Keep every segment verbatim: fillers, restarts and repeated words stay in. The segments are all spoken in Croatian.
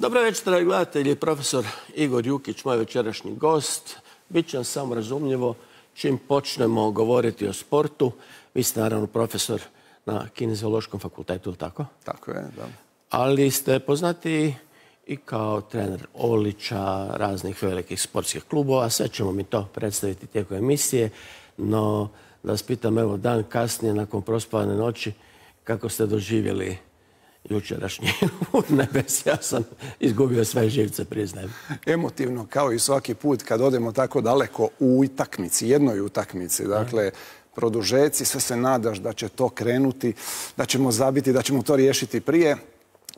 Dobro večer, dragi gledatelji. Profesor Igor Jukić, moj večerašnji gost. Biće nam samo razumljivo čim počnemo govoriti o sportu. Vi ste naravno profesor na Kineziološkom fakultetu, ili tako? Tako je, da. Ali ste poznati i kao trener Olića, raznih velikih sportskih klubova. Sve ćemo mi to predstaviti tijekom emisije. No, da vas pitam, evo, dan kasnije, nakon prospavane noći, kako ste doživjeli jučerašnji nebes? Ja sam izgubio sve živce, priznajem. Emotivno, kao i svaki put kad odemo tako daleko u utakmici, jednoj utakmici. Dakle, produžeci, sve se nadaš da će to krenuti, da ćemo zabiti, da ćemo to riješiti prije.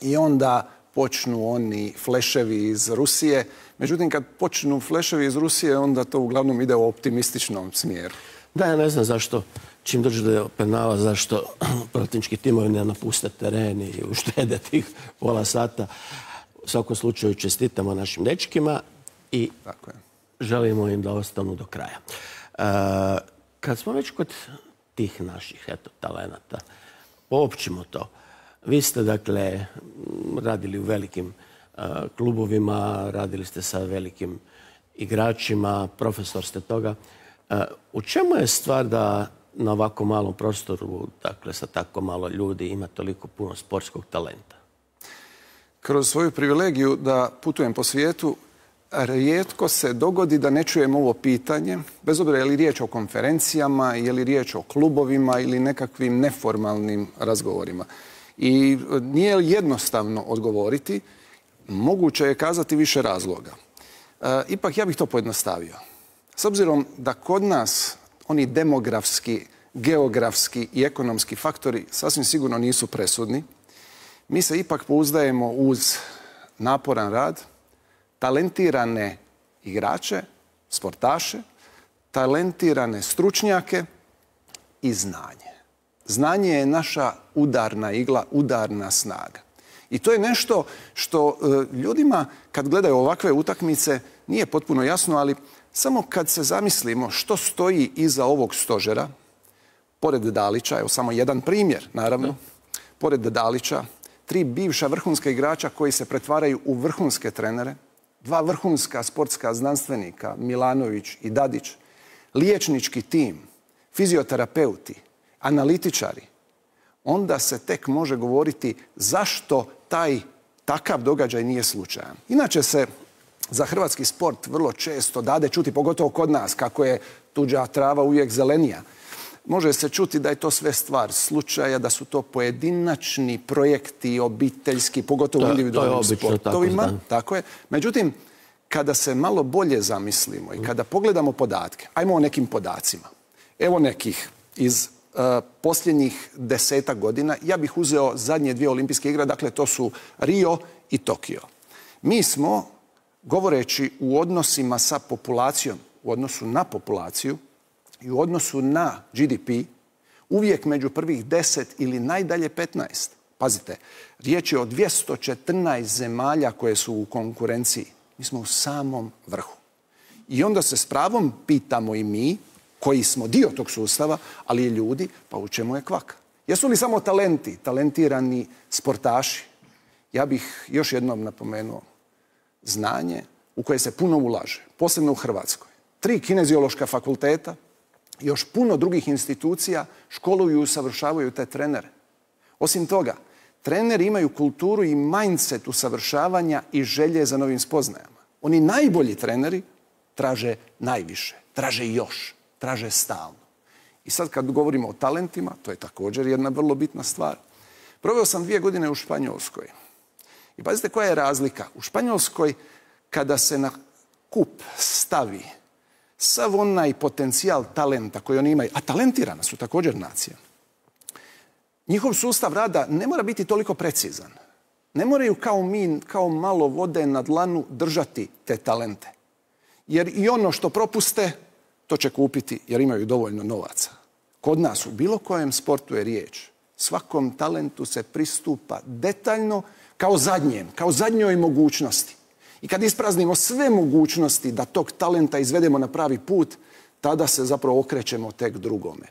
I onda počnu oni fleševi iz Rusije. Međutim, kad počnu fleševi iz Rusije, onda to uglavnom ide u optimističnom smjeru. Da, ja ne znam zašto, čim dođe do penala, zašto protivnički timovi ne napuste teren i uštede tih pola sata. U svakom slučaju čestitamo našim dečkima i Tako je. želimo im da ostanu do kraja. E, kad smo već kod tih naših eto, talenata, poopćimo to. Vi ste, dakle, radili u velikim uh, klubovima, radili ste sa velikim igračima, profesor ste toga. Uh, u čemu je stvar da na ovako malom prostoru, dakle, sa tako malo ljudi, ima toliko puno sportskog talenta? Kroz svoju privilegiju da putujem po svijetu, rijetko se dogodi da ne čujem ovo pitanje, bez obzira je li riječ o konferencijama, je li riječ o klubovima ili nekakvim neformalnim razgovorima. I nije jednostavno odgovoriti, moguće je kazati više razloga. E, ipak ja bih to pojednostavio. S obzirom da kod nas oni demografski, geografski i ekonomski faktori sasvim sigurno nisu presudni, mi se ipak pouzdajemo uz naporan rad, talentirane igrače, sportaše, talentirane stručnjake i znanje. Znanje je naša udarna igla, udarna snaga. I to je nešto što e, ljudima kad gledaju ovakve utakmice nije potpuno jasno, ali samo kad se zamislimo što stoji iza ovog stožera, pored Dalića, evo samo jedan primjer, naravno, da. Pored Dalića, tri bivša vrhunska igrača koji se pretvaraju u vrhunske trenere, dva vrhunska sportska znanstvenika, Milanović i Dadić, liječnički tim, fizioterapeuti, analitičari, onda se tek može govoriti zašto taj takav događaj nije slučajan. Inače se za hrvatski sport vrlo često dade čuti, pogotovo kod nas, kako je tuđa trava uvijek zelenija. Može se čuti da je to sve stvar slučaja, da su to pojedinačni projekti, obiteljski, pogotovo u individualnim sportovima. Tako, tako je. Međutim, kada se malo bolje zamislimo i kada pogledamo podatke, ajmo o nekim podacima. Evo nekih iz uh, posljednjih desetak godina. Ja bih uzeo zadnje dvije olimpijske igre, dakle to su Rio i Tokio. Mi smo, govoreći u odnosima sa populacijom, u odnosu na populaciju i u odnosu na G D P, uvijek među prvih deset ili najdalje petnaest. Pazite, riječ je o dvjesto četrnaest zemalja koje su u konkurenciji. Mi smo u samom vrhu. I onda se s pravom pitamo i mi, koji smo dio tog sustava, ali i ljudi, pa u čemu je kvaka? Jesu li samo talenti, talentirani sportaši? Ja bih još jednom napomenuo znanje u koje se puno ulaže, posebno u Hrvatskoj. Tri kineziološka fakulteta, još puno drugih institucija školuju i usavršavaju te trenere. Osim toga, treneri imaju kulturu i mindset usavršavanja i želje za novim spoznajama. Oni najbolji treneri traže najviše, traže još, traže stalno. I sad kad govorimo o talentima, to je također jedna vrlo bitna stvar. Proveo sam dvije godine u Španjolskoj. I pazite koja je razlika. U Španjolskoj kada se na kup stavi sav onaj potencijal talenta koji oni imaju, a talentirana su također nacija, njihov sustav rada ne mora biti toliko precizan. Ne moraju kao mi, kao malo vode na dlanu držati te talente. Jer i ono što propuste, to će kupiti jer imaju dovoljno novaca. Kod nas u bilo kojem sportu je riječ. Svakom talentu se pristupa detaljno kao zadnjem, kao zadnjoj mogućnosti. I kad ispraznimo sve mogućnosti da tog talenta izvedemo na pravi put, tada se zapravo okrećemo tek drugome.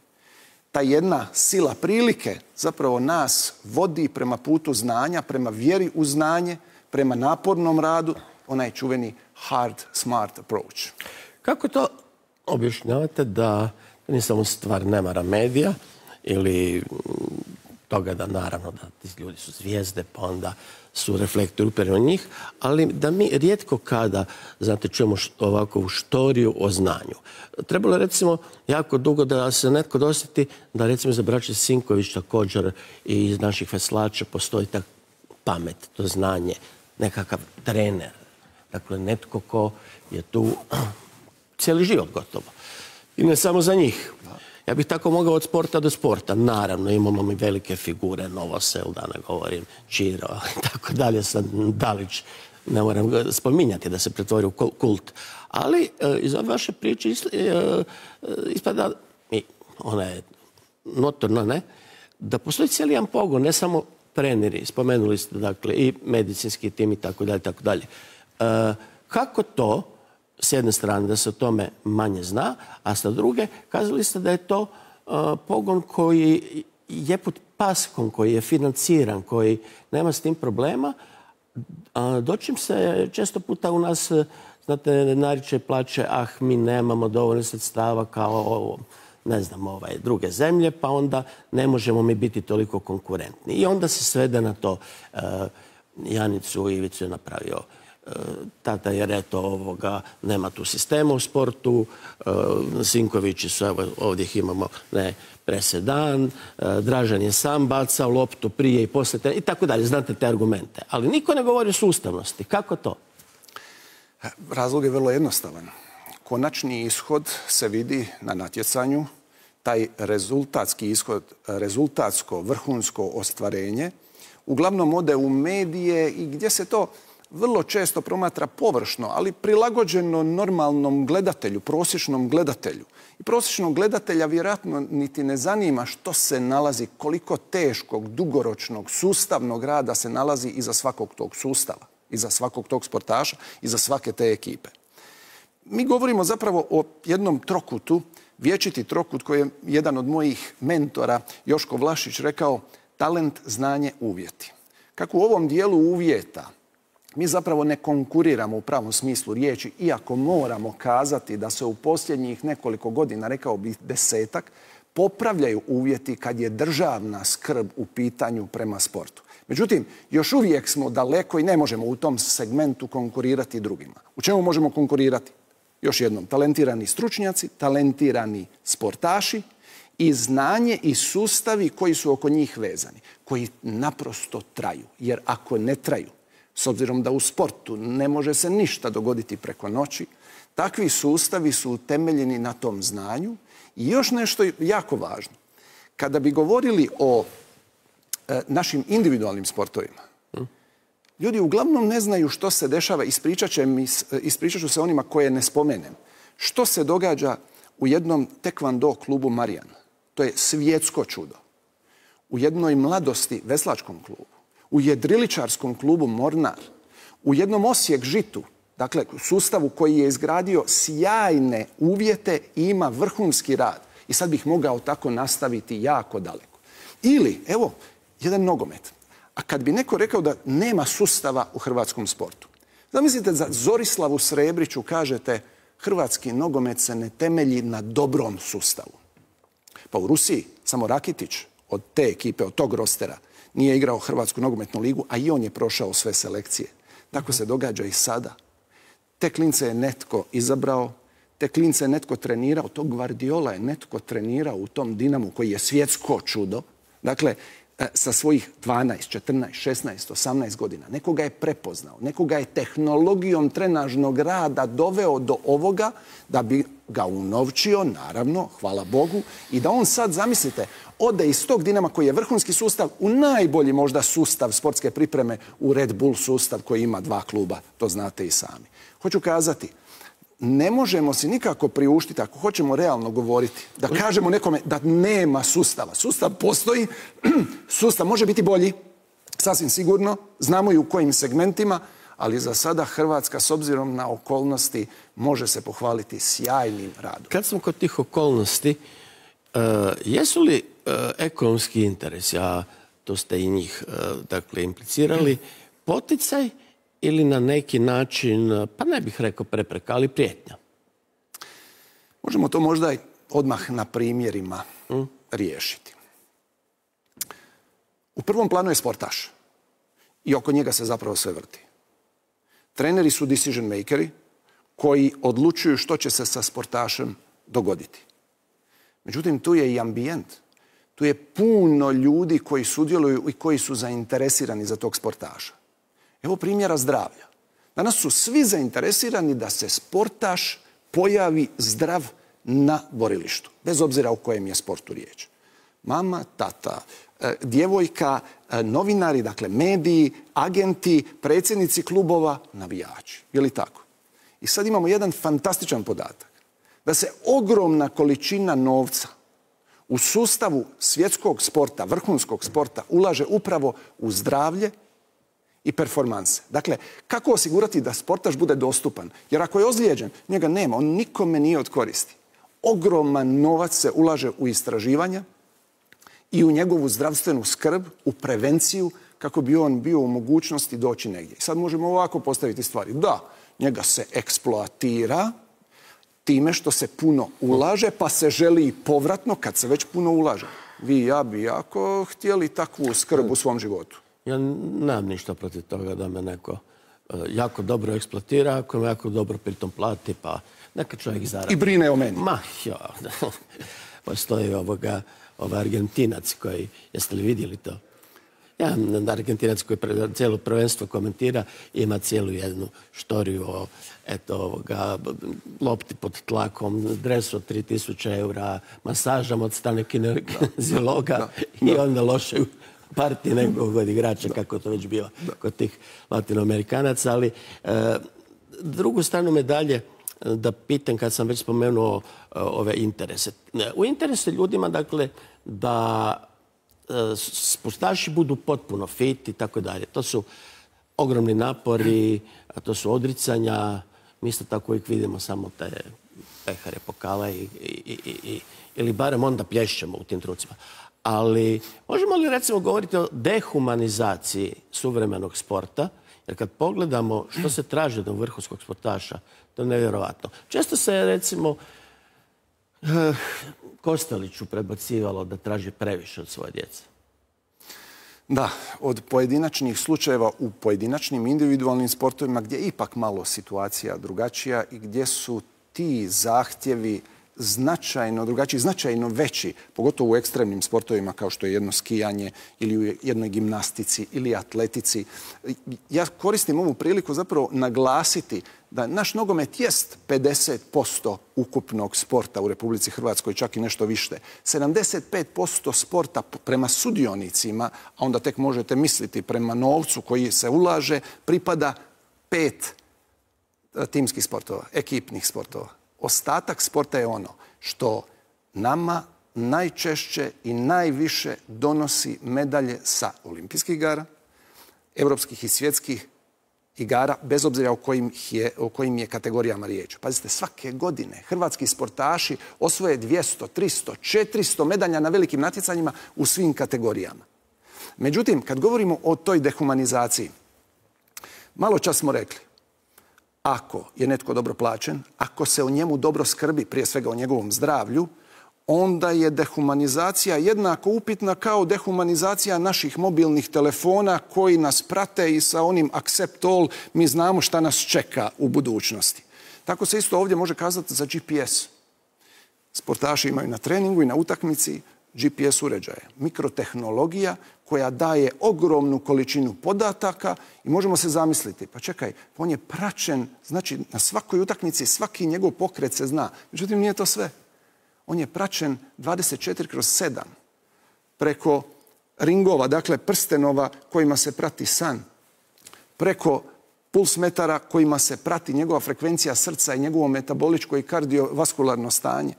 Ta jedna sila prilike zapravo nas vodi prema putu znanja, prema vjeri u znanje, prema napornom radu, onaj čuveni hard smart approach. Kako to objašnjavate da nije samo stvar nemara medija ili toga da naravno da ti ljudi su zvijezde pa onda su reflektori upereni na njih, ali da mi rijetko kada, znate, čujemo ovakvu štoriju o znanju. Trebalo je recimo jako dugo da se netko dosjeti da recimo za braće Sinković također i iz naših veslača postoji ta pamet, to znanje, nekakav trener. Dakle, netko ko je tu cijeli život gotovo. I ne samo za njih. Ja bih tako mogao od sporta do sporta. Naravno, imamo mi velike figure, Novosel, da ne govorim, Čiro i tako dalje, sad Dalić, ne moram ga spominjati da se pretvori u kult. Ali iz ove vaše priče ispada, i ona je notorna, ne, da postoji cijeli jedan pogon, ne samo treneri, spomenuli ste, dakle, i medicinski tim i tako dalje, tako dalje. Kako to, s jedne strane, da se o tome manje zna, a sa druge, kazali ste da je to pogon koji je pod paskom, koji je financiran, koji nema s tim problema. Dočim se često puta u nas, znate, nariče plaće, ah, mi nemamo dovoljno sredstava kao, ne znam, ovaj, druge zemlje, pa onda ne možemo mi biti toliko konkurentni. I onda se svede na to. Janicu Ivicu je napravio tata, jer eto ovoga, nema tu sistema u sportu, Sinkovići su, evo ovdje ih imamo, ne, presedan, Dražan je sam bacao loptu prije i poslije, i tako dalje, znate te argumente. Ali niko ne govori o sustavnosti. Kako to? Razlog je vrlo jednostavan. Konačni ishod se vidi na natjecanju, taj rezultatski ishod, rezultatsko, vrhunsko ostvarenje, uglavnom ode u medije i gdje se to vrlo često promatra površno, ali prilagođeno normalnom gledatelju, prosječnom gledatelju. I prosječnog gledatelja vjerojatno niti ne zanima što se nalazi, koliko teškog, dugoročnog, sustavnog rada se nalazi iza svakog tog sustava, iza svakog tog sportaša, iza svake te ekipe. Mi govorimo zapravo o jednom trokutu, vječiti trokut koji je jedan od mojih mentora, Joško Vlašić, rekao talent, znanje, uvjeti. Kako u ovom dijelu uvjeta mi zapravo ne konkuriramo u pravom smislu riječi, iako moramo kazati da se u posljednjih nekoliko godina, rekao bih desetak, popravljaju uvjeti kad je državna skrb u pitanju prema sportu. Međutim, još uvijek smo daleko i ne možemo u tom segmentu konkurirati drugima. U čemu možemo konkurirati? Još jednom, talentirani stručnjaci, talentirani sportaši i znanje i sustavi koji su oko njih vezani, koji naprosto traju. Jer ako ne traju, s obzirom da u sportu ne može se ništa dogoditi preko noći, takvi sustavi su utemeljeni na tom znanju. I još nešto jako važno. Kada bi govorili o e, našim individualnim sportovima, ljudi uglavnom ne znaju što se dešava, ispričat će mi, ispričat ću se onima koje ne spomenem. Što se događa u jednom tekvando klubu Marijan? To je svjetsko čudo. U jednoj mladosti veslačkom klubu, u jedriličarskom klubu Mornar, u jednom Osijek Žitu, dakle sustavu koji je izgradio sjajne uvjete i ima vrhunski rad. I sad bih mogao tako nastaviti jako daleko. Ili, evo, jedan nogomet. A kad bi neko rekao da nema sustava u hrvatskom sportu. Zamislite, za Zorislavu Srebriću kažete hrvatski nogomet se ne temelji na dobrom sustavu. Pa u Rusiji samo Rakitić od te ekipe, od tog rostera, nije igrao Hrvatsku nogometnu ligu, a i on je prošao sve selekcije. Tako se događa i sada. Te klince je netko izabrao, te klince je netko trenirao, tog Guardiola je netko trenirao u tom Dinamu koji je svjetsko čudo. Dakle, sa svojih dvanaest, četrnaest, šesnaest, osamnaest godina. Nekoga je prepoznao, nekoga je tehnologijom trenažnog rada doveo do ovoga da bi ga unovčio, naravno, hvala Bogu, i da on sad, zamislite, ode iz tog Dinama koji je vrhunski sustav u najbolji možda sustav sportske pripreme u Red Bull sustav koji ima dva kluba, to znate i sami. Hoću kazati, ne možemo si nikako priuštiti, ako hoćemo realno govoriti, da kažemo nekome da nema sustava. Sustav postoji, sustav može biti bolji, sasvim sigurno, znamo i u kojim segmentima, ali za sada Hrvatska, s obzirom na okolnosti, može se pohvaliti sjajnim radom. Kad smo kod tih okolnosti, uh, jesu li uh, ekonomski interesi, a to ste i njih uh, dakle, implicirali, poticaj ili na neki način, pa ne bih rekao prepreka, ali prijetnja? Možemo to možda odmah na primjerima mm. riješiti. U prvom planu je sportaš i oko njega se zapravo sve vrti. Treneri su decision makeri koji odlučuju što će se sa sportašem dogoditi. Međutim, tu je i ambijent. Tu je puno ljudi koji sudjeluju i koji su zainteresirani za tog sportaša. Evo primjera zdravlja. Danas su svi zainteresirani da se sportaš pojavi zdrav na borilištu, bez obzira o kojem je sportu riječ. Mama, tata, djevojka, novinari, dakle mediji, agenti, predsjednici klubova, navijači. Je li tako? I sad imamo jedan fantastičan podatak. Da se ogromna količina novca u sustavu svjetskog sporta, vrhunskog sporta, ulaže upravo u zdravlje i performanse. Dakle, kako osigurati da sportaš bude dostupan? Jer ako je ozlijeđen, njega nema, on nikome nije od koristi. Ogroman novac se ulaže u istraživanja i u njegovu zdravstvenu skrb, u prevenciju, kako bi on bio u mogućnosti doći negdje. Sad možemo ovako postaviti stvari. Da, njega se eksploatira time što se puno ulaže, pa se želi i povratno kad se već puno ulaže. Vi i ja bi jako htjeli takvu skrb u svom životu. Ja nemam ništa protiv toga da me neko jako dobro eksploatira, ako me jako dobro pritom plati, pa neka čovjek zaradi. I brine o meni. Ma, jo. Postoji ovoga, ovaj Argentinac koji, jeste li vidjeli to? Ja, Argentinac koji cijelo prvenstvo komentira, ima cijelu jednu štoriju o eto, ovoga, lopti pod tlakom, dresu od tri tisuće eura, masažama od strane kineziologa i onda lošoj partiji nekog od igrača, kako to već bilo kod tih latinoamerikanaca. Ali e, drugu stranu medalje da pitam, kad sam već spomenuo e, ove interese. U interese ljudima, dakle, da sportaši budu potpuno fit i tako dalje. To su ogromni napori, to su odricanja. Mi isto tako uvijek vidimo samo te pehare, pokale i, i, i, i, ili barem onda plješćemo u tim trucima. Ali možemo li recimo govoriti o dehumanizaciji suvremenog sporta? Jer kad pogledamo što se traži od vrhunskog sportaša, to je nevjerovatno. Često se recimo Kosteliću prebacivalo da traži previše od svoje djece. Da, od pojedinačnih slučajeva u pojedinačnim individualnim sportovima gdje je ipak malo situacija drugačija i gdje su ti zahtjevi značajno drugačiji, značajno veći, pogotovo u ekstremnim sportovima kao što je jedno skijanje ili u jednoj gimnastici ili atletici. Ja koristim ovu priliku zapravo naglasiti da naš nogomet jest pedeset posto ukupnog sporta u Republici Hrvatskoj, čak i nešto više. sedamdeset pet posto sporta prema sudionicima, a onda tek možete misliti prema novcu koji se ulaže, pripada pet timskih sportova, ekipnih sportova. Ostatak sporta je ono što nama najčešće i najviše donosi medalje sa olimpijskih igara, europskih i svjetskih igara, bez obzira o kojim je, o kojim je kategorijama riječ. Pazite, svake godine hrvatski sportaši osvoje dvjesto, tristo, četiristo medalja na velikim natjecanjima u svim kategorijama. Međutim, kad govorimo o toj dehumanizaciji, malo čas smo rekli, ako je netko dobro plaćen, ako se o njemu dobro skrbi, prije svega o njegovom zdravlju, onda je dehumanizacija jednako upitna kao dehumanizacija naših mobilnih telefona koji nas prate i sa onim accept all mi znamo šta nas čeka u budućnosti. Tako se isto ovdje može kazati za G P S. Sportaši imaju na treningu i na utakmici G P S uređaje. Mikrotehnologija koja daje ogromnu količinu podataka i možemo se zamisliti, pa čekaj, on je praćen, znači na svakoj utakmici svaki njegov pokret se zna. Međutim, nije to sve. On je praćen dvadeset četiri kroz sedam preko ringova, dakle prstenova kojima se prati san, preko pulsmetara kojima se prati njegova frekvencija srca i njegovo metaboličko i kardiovaskularno stanje.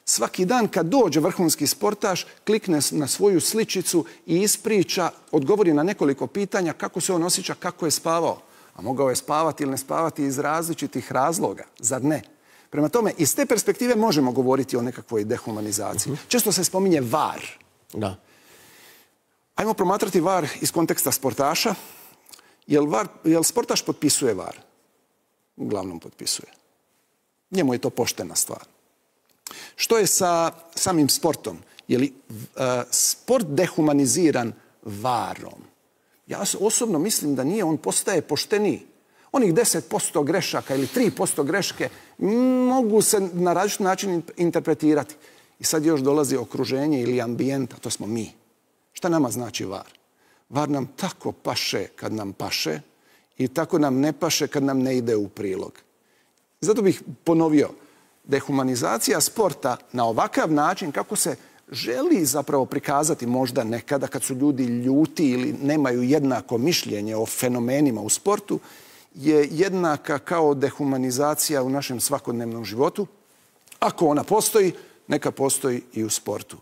Svaki dan kad dođe vrhunski sportaš, klikne na svoju sličicu i ispriča, odgovori na nekoliko pitanja kako se on osjeća, kako je spavao. A mogao je spavati ili ne spavati iz različitih razloga, zar ne? Prema tome, iz te perspektive možemo govoriti o nekakvoj dehumanizaciji. Uh-huh. Često se spominje V A R. Da. Ajmo promatrati V A R iz konteksta sportaša Jel, var, jel sportaš potpisuje var? Uglavnom potpisuje. Njemu je to poštena stvar. Što je sa samim sportom? Je li uh, sport dehumaniziran varom? Ja osobno mislim da nije, on postaje pošteniji. Onih deset posto grešaka ili tri posto greške mogu se na različit način interpretirati. I sad još dolazi okruženje ili ambijenta, to smo mi. Šta nama znači var? Var nam tako paše kad nam paše i tako nam ne paše kad nam ne ide u prilog. Zato bih ponovio, dehumanizacija sporta na ovakav način kako se želi zapravo prikazati možda nekada kad su ljudi ljuti ili nemaju jednako mišljenje o fenomenima u sportu, je jednaka kao dehumanizacija u našem svakodnevnom životu. Ako ona postoji, neka postoji i u sportu.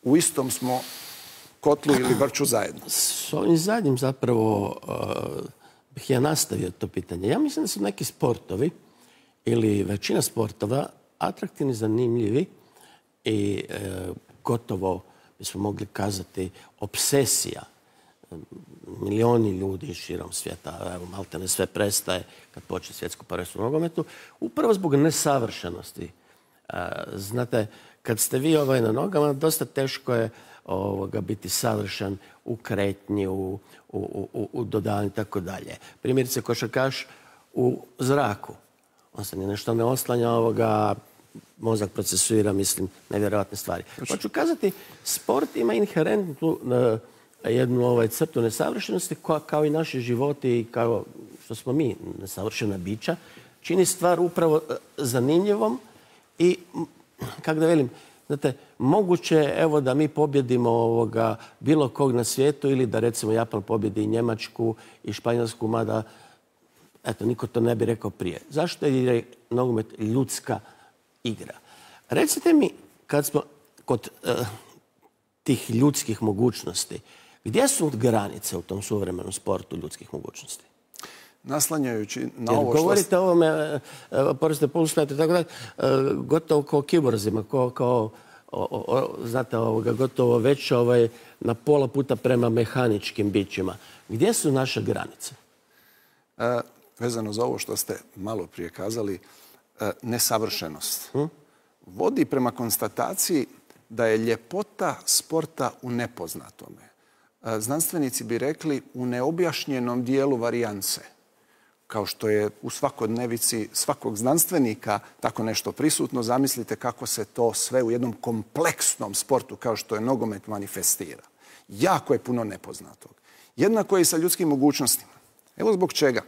U istom smo kotlu ili vrču zajedno. S ovim zadnjim zapravo uh, bih ja nastavio to pitanje. Ja mislim da su neki sportovi ili većina sportova atraktivni, zanimljivi i uh, gotovo bismo mogli kazati obsesija. Milioni ljudi širom svijeta, evo, malte ne sve prestaje kad počne svjetsko prvenstvo u nogometu, upravo zbog nesavršenosti. Uh, znate, kad ste vi ovaj na nogama, dosta teško je ovoga, biti savršen u kretnji, u, u, u, u dodavanju i tako dalje. Primjerice, košarkaš u zraku. On se ni nešto ne oslanja, ovoga, mozak procesuira, mislim, nevjerojatne stvari. Hoću kazati, sport ima inherentnu uh, jednu ovaj, crtu nesavršenosti koja, kao i naši životi i kao što smo mi, nesavršena bića, čini stvar upravo uh, zanimljivom i, kako da velim, znate, moguće evo da mi pobjedimo ovoga bilo kog na svijetu ili da recimo Japan pobjedi i Njemačku i Španjolsku, mada eto, niko to ne bi rekao prije. Zašto je nogomet ljudska igra? Recite mi, kad smo kod uh, tih ljudskih mogućnosti, gdje su granice u tom suvremenom sportu ljudskih mogućnosti? Naslanjajući na Jer ovo što... govorite o ovome, poriste poluspet i tako dalje, gotovo kao kiborzima, kao, kao o, o, znate, ovoga, gotovo već ovaj, na pola puta prema mehaničkim bićima. Gdje su naše granice? E, vezano za ovo što ste malo prije kazali, e, nesavršenost hm? vodi prema konstataciji da je ljepota sporta u nepoznatome. E, znanstvenici bi rekli u neobjašnjenom dijelu varijance. Kao što je u svakodnevici svakog znanstvenika tako nešto prisutno, zamislite kako se to sve u jednom kompleksnom sportu kao što je nogomet manifestira. Jako je puno nepoznatog. Jednako je i sa ljudskim mogućnostima. Evo zbog čega.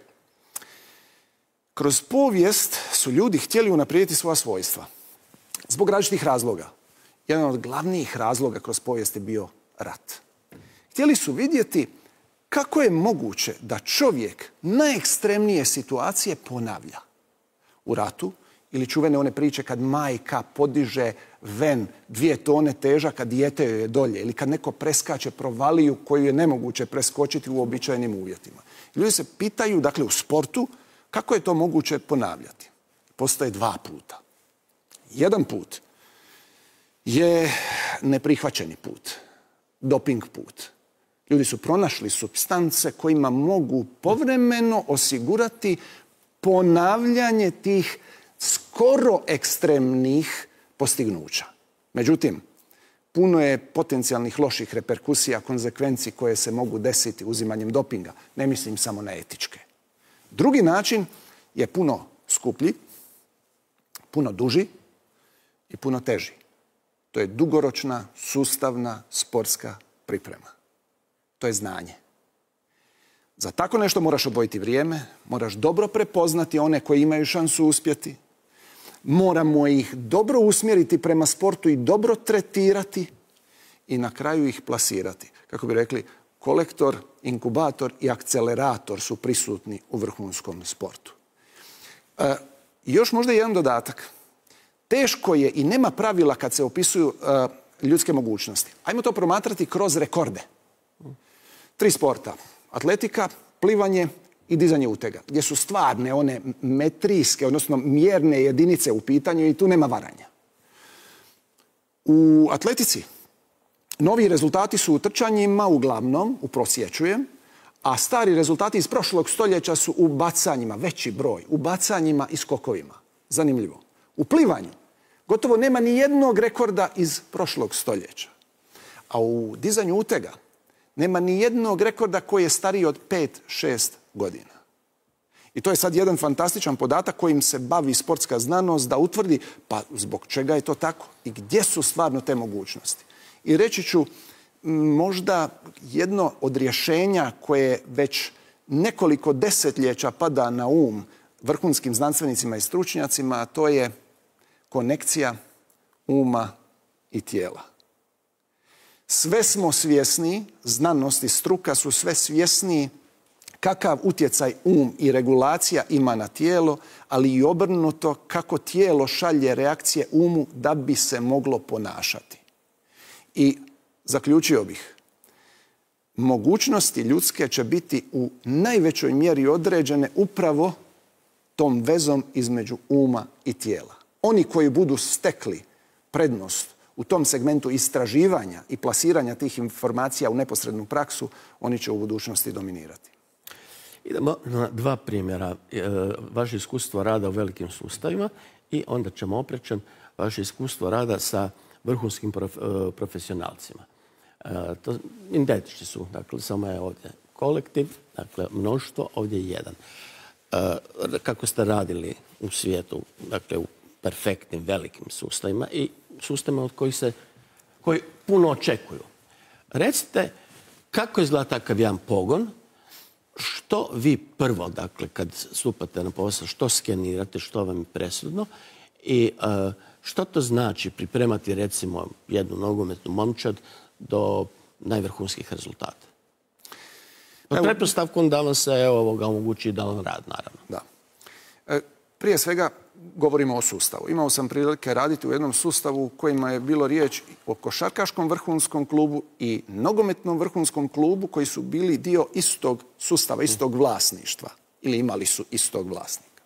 Kroz povijest su ljudi htjeli unaprijediti svoja svojstva. Zbog različitih razloga. Jedan od glavnijih razloga kroz povijest je bio rat. Htjeli su vidjeti kako je moguće da čovjek najekstremnije situacije ponavlja. U ratu, ili čuvene one priče kad majka podiže ven dvije tone težaka, dijete joj je dolje, ili kad neko preskače provaliju koju je nemoguće preskočiti u uobičajenim uvjetima. Ljudi se pitaju, dakle, u sportu, kako je to moguće ponavljati. Postoje dva puta. Jedan put je neprihvaćeni put, doping put. Ljudi su pronašli supstance kojima mogu povremeno osigurati ponavljanje tih skoro ekstremnih postignuća. Međutim, puno je potencijalnih loših reperkusija, konzekvenci koje se mogu desiti uzimanjem dopinga. Ne mislim samo na etičke. Drugi način je puno skuplji, puno duži i puno teži. To je dugoročna, sustavna, sportska priprema. To je znanje. Za tako nešto moraš odvojiti vrijeme, moraš dobro prepoznati one koji imaju šansu uspjeti, moramo ih dobro usmjeriti prema sportu i dobro tretirati i na kraju ih plasirati. Kako bi rekli, kolektor, inkubator i akcelerator su prisutni u vrhunskom sportu. E, još možda jedan dodatak. Teško je i nema pravila kad se opisuju e, ljudske mogućnosti. Ajmo to promatrati kroz rekorde. Tri sporta. Atletika, plivanje i dizanje utega. Gdje su stvarne one metrijske, odnosno mjerne jedinice u pitanju i tu nema varanja. U atletici novi rezultati su u trčanjima, uglavnom, uprosječujem, A stari rezultati iz prošlog stoljeća su u bacanjima, veći broj, u bacanjima i skokovima. Zanimljivo. U plivanju gotovo nema ni jednog rekorda iz prošlog stoljeća. A u dizanju utega nema ni jednog rekorda koji je stariji od pet šest godina. I to je sad jedan fantastičan podatak kojim se bavi sportska znanost da utvrdi pa zbog čega je to tako i gdje su stvarno te mogućnosti. I reći ću možda jedno od rješenja koje već nekoliko desetljeća pada na um vrhunskim znanstvenicima i stručnjacima, a to je konekcija uma i tijela. Sve smo svjesni, znanost i struka su sve svjesniji kakav utjecaj um i regulacija ima na tijelo, ali i obrnuto kako tijelo šalje reakcije umu da bi se moglo ponašati. I zaključio bih, mogućnosti ljudske će biti u najvećoj mjeri određene upravo tom vezom između uma i tijela. Oni koji budu stekli prednost u tom segmentu istraživanja i plasiranja tih informacija u neposrednu praksu, oni će u budućnosti dominirati. Idemo na dva primjera. Vaše iskustvo rada u velikim sustavima i onda ćemo oprećen vaše iskustvo rada sa vrhunskim profesionalcima. To identični su, dakle, samo je ovdje kolektiv, dakle, mnoštvo, ovdje je jedan. Kako ste radili u svijetu, dakle, u perfektnim, velikim sustavima i sustavima od kojih se, koji puno očekuju. Recite, kako izgleda takav jedan pogon, što vi prvo, dakle, kad stupate na posao, što skenirate, što vam je presudno i uh, što to znači pripremati, recimo, jednu nogometnu momčad do najvrhunskih rezultata? Pod pretpostavkom da vam se ovoga omogući da vam rad, naravno. Da. E, prije svega govorimo o sustavu. Imao sam prilike raditi u jednom sustavu u kojima je bilo riječ o košarkaškom vrhunskom klubu i nogometnom vrhunskom klubu koji su bili dio istog sustava, istog vlasništva ili imali su istog vlasnika.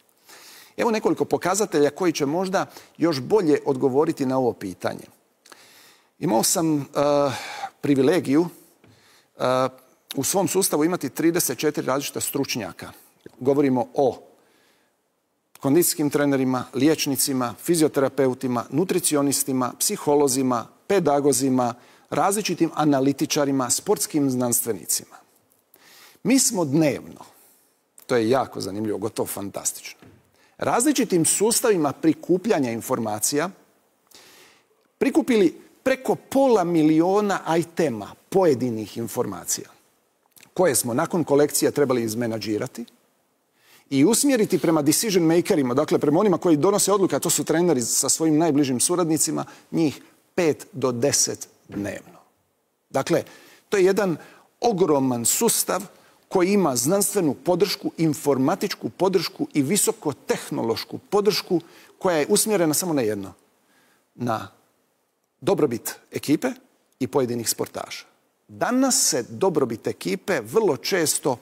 Evo nekoliko pokazatelja koji će možda još bolje odgovoriti na ovo pitanje. Imao sam uh, privilegiju uh, u svom sustavu imati trideset četiri različita stručnjaka. Govorimo o kondicijskim trenerima, liječnicima, fizioterapeutima, nutricionistima, psiholozima, pedagozima, različitim analitičarima, sportskim znanstvenicima. Mi smo dnevno, to je jako zanimljivo, gotovo fantastično, različitim sustavima prikupljanja informacija prikupili preko pola miliona itema pojedinih informacija koje smo nakon kolekcija trebali izmenadžirati i usmjeriti prema decision makerima, dakle prema onima koji donose odluke, a to su treneri sa svojim najbližim suradnicima, njih pet do deset dnevno. Dakle, to je jedan ogroman sustav koji ima znanstvenu podršku, informatičku podršku i visokotehnološku podršku koja je usmjerena samo na jedno, na dobrobit ekipe i pojedinih sportaša. Danas se dobrobit ekipe vrlo često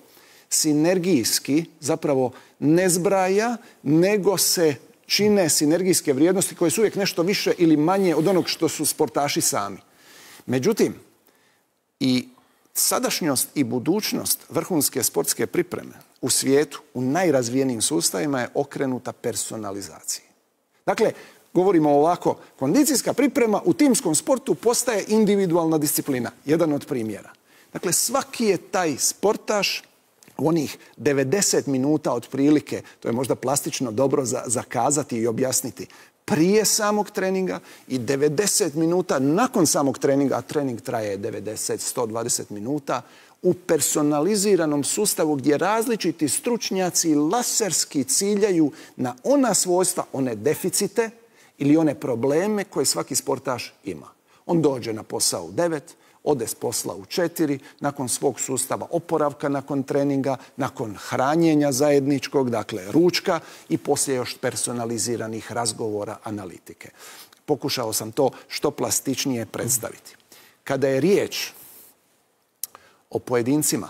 sinergijski zapravo ne zbraja, nego se čine sinergijske vrijednosti koje su uvijek nešto više ili manje od onog što su sportaši sami. Međutim, i sadašnjost i budućnost vrhunske sportske pripreme u svijetu, u najrazvijenijim sustavima je okrenuta personalizaciji. Dakle, govorimo ovako, kondicijska priprema u timskom sportu postaje individualna disciplina, jedan od primjera. Dakle, svaki je taj sportaš u onih devedeset minuta otprilike, to je možda plastično dobro za, zakazati i objasniti, prije samog treninga i devedeset minuta nakon samog treninga, a trening traje devedeset do sto dvadeset minuta, u personaliziranom sustavu gdje različiti stručnjaci laserski ciljaju na ona svojstva, one deficite ili one probleme koje svaki sportaš ima. On dođe na posao u devet, ode s posla u četiri, nakon svog sustava oporavka, nakon treninga, nakon hranjenja zajedničkog, dakle ručka i poslije još personaliziranih razgovora, analitike. Pokušao sam to što plastičnije predstaviti. Kada je riječ o pojedincima,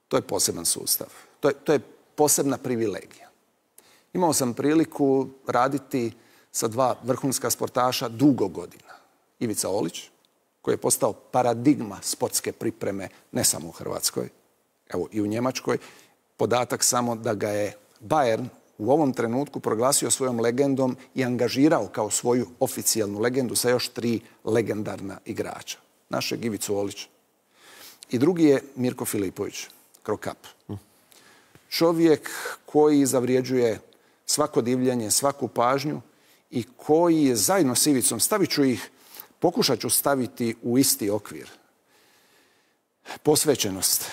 to je poseban sustav. To je, to je posebna privilegija. Imao sam priliku raditi sa dva vrhunska sportaša dugo godina. Ivica Olić, koji je postao paradigma sportske pripreme ne samo u Hrvatskoj, evo i u Njemačkoj, podatak samo da ga je Bayern u ovom trenutku proglasio svojom legendom i angažirao kao svoju oficijalnu legendu sa još tri legendarna igrača. Našeg Ivicu Olića. I drugi je Mirko Filipović, Krokap. Čovjek koji zavrijeđuje svako divljenje, svaku pažnju i koji je zajedno s Ivicom, stavit ću ih, pokušat ću staviti u isti okvir. Posvećenost,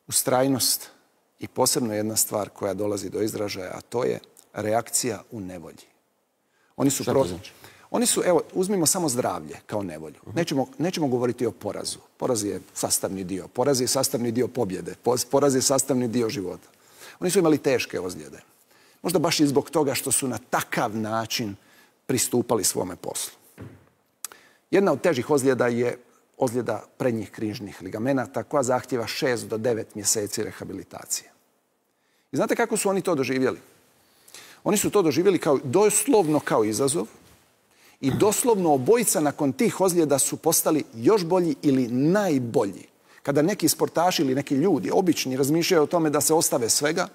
ustrajnost i posebno jedna stvar koja dolazi do izražaja, a to je reakcija u nevolji. Oni su pro... Oni su, evo, uzmimo samo zdravlje kao nevolju. Nećemo, nećemo govoriti o porazu. Poraz je sastavni dio. Poraz je sastavni dio pobjede. Poraz je sastavni dio života. Oni su imali teške ozljede. Možda baš i zbog toga što su na takav način pristupali svome poslu. Jedna od težih ozljeda je ozljeda prednjih križnih ligamenata koja zahtjeva šest do devet mjeseci rehabilitacije. I znate kako su oni to doživjeli? Oni su to doživjeli kao, doslovno kao izazov i doslovno obojica nakon tih ozljeda su postali još bolji ili najbolji. Kada neki sportaši ili neki ljudi, obični, razmišljaju o tome da se ostave svega,